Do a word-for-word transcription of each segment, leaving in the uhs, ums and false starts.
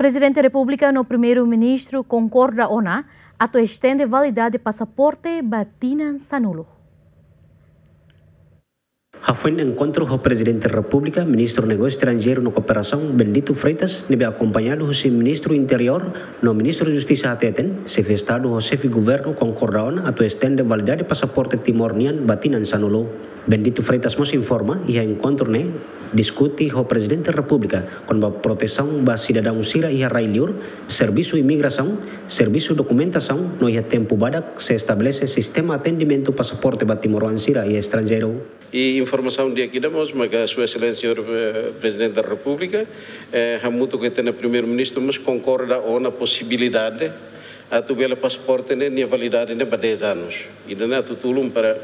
Prezidente Repúblika no Primeiru-Ministru konkorda ona atu estende validade pasaporte ba tinan sanulu. Hafoin enkontru ho Prezidente Repúblika, Ministru Negósiu Estranjeiru no Kooperasaun, Bendito Freitas, ne'ebé akompañadu husi Ministru Interiór no Ministru Justisa hateten, Xefe Estadu ho Xefe Governu konkorda ona atu estende validade pasaporte Timor nian ba tinan sanulu. Bendito Freitas mós informa, iha enkontru ne'e diskute ho Prezidente Repúblika kona-ba protesaun ba sidadaun sira iha rai-liur, servisu imigrasaun, servisu dokumentasaun, no iha tempu badak sei estabelese sistema atendimentu pasaporte ba timoroan sira iha estranjeiru. I informasaun di'ak ida mós maka Sua Exelénsia, eh, Prezidente da Repúblika, eh, hamutuk ho ita-nia Primeiru-Ministru mós konkorda ona posibilidade atu bele pasaporte ne'e nia validade ne'e ba dez anos. Ida-ne'e atu tulun para,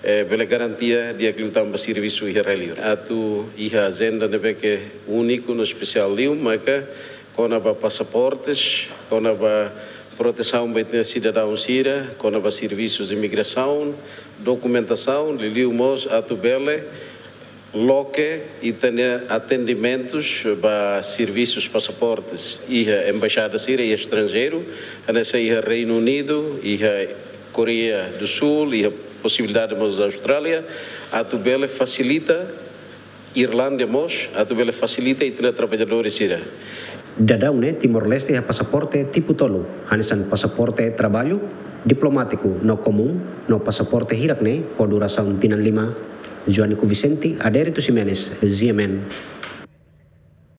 eh, bele garantia di'ak liután ba servisu iha rai-liur. Atu iha ajenda ne'ebé ke úniku no espesiál liu, maka kona-ba pasaportes, kona-ba protesaun ba ita-nia sidadaun sira, kona-ba servisus imigrasaun, dokumentasaun, liuliu mós atu bele loke ita-nia atendimentus ba servisus pasaportes iha embaixada sira iha estranjeiru, hanesan iha Reinu Unidu, iha Koreia do Sul, iha posibilidade mós Austrália, atu bele fasilita, Irlándia mós, atu bele fasilita ita-nia traballadores sira. Daudaun ne'e Timor-Leste iha pasaporte tipu tolu, hanesan pasaporte traballu, diplomátiku no komún, no pasaporte hirak ne'e ho durasaun tinan lima. Joanico Vicente, Adérito Ximenes, G M N.